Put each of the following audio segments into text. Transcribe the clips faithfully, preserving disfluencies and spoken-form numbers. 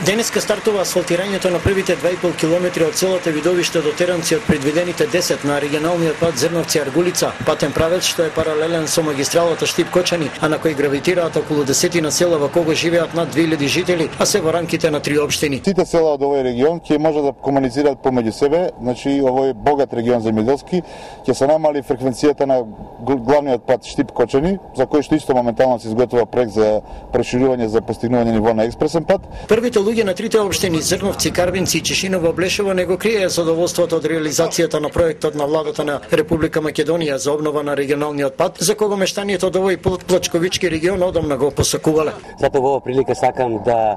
Денеска стартува асфалтирањето на првите два и пол километри од селото Видовиште до Теранци од предвидените десет на регионалниот пат Зрновци-Аргулица, патен правец што е паралелен со магистралата Штип-Кочани, а на кој гравитираат околу десетина села во кого живеат над две илјади жители, а се во рамките на три општини. Сите села од овој регион ќе може да комуницираат помеѓу себе, значи овој богат регион земјоделски, ќе се намали фреквенцијата на главниот пат Штип-Кочани, за кој што исто моментално се изготвува проект за проширување за постигнување ниво на експресен пат. Првите луѓе на трите општини Зрновци, Карвинци и Чешиново Блешево не го криеја задоволството од реализацијата на проектот на владата на Република Македонија за обнова на регионалниот пат, за кого мештаните од овој плачковички регион одамна го посакувале. Затоа во оваа прилика сакам да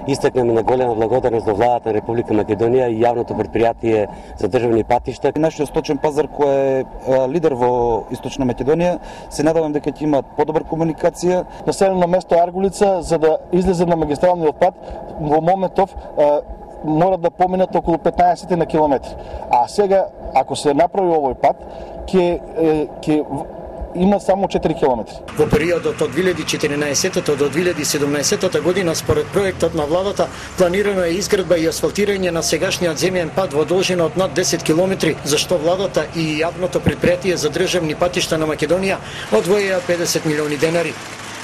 истакнеме на голема благодарност до владата на Република Македонија и јавното претпријатие за државни патишта. Нашиот сточен пазар кој е лидер во Источна Македонија, се надевам дека ќе имаат подобра комуникација. Населено место Аргулица, за да излезе на магистралниот пат, во моментов мора да поминат околу петнаесет на километри. А сега, ако се направи овој пат, ќе ќе има само четири километри. Во периодот од две илјади и четиринаесетта до две илјади и седумнаесетта година, според проектот на владата, планирано е изградба и асфалтирање на сегашниот земјен пат во должина од над десет километри, за што владата и јавното претпријатие за државни патишта на Македонија одвоија педесет милиони денари.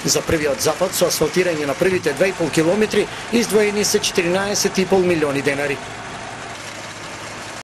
За првиот запад со асфалтирање на првите два и пол километри издвоени се четиринаесет и пол милиони денари.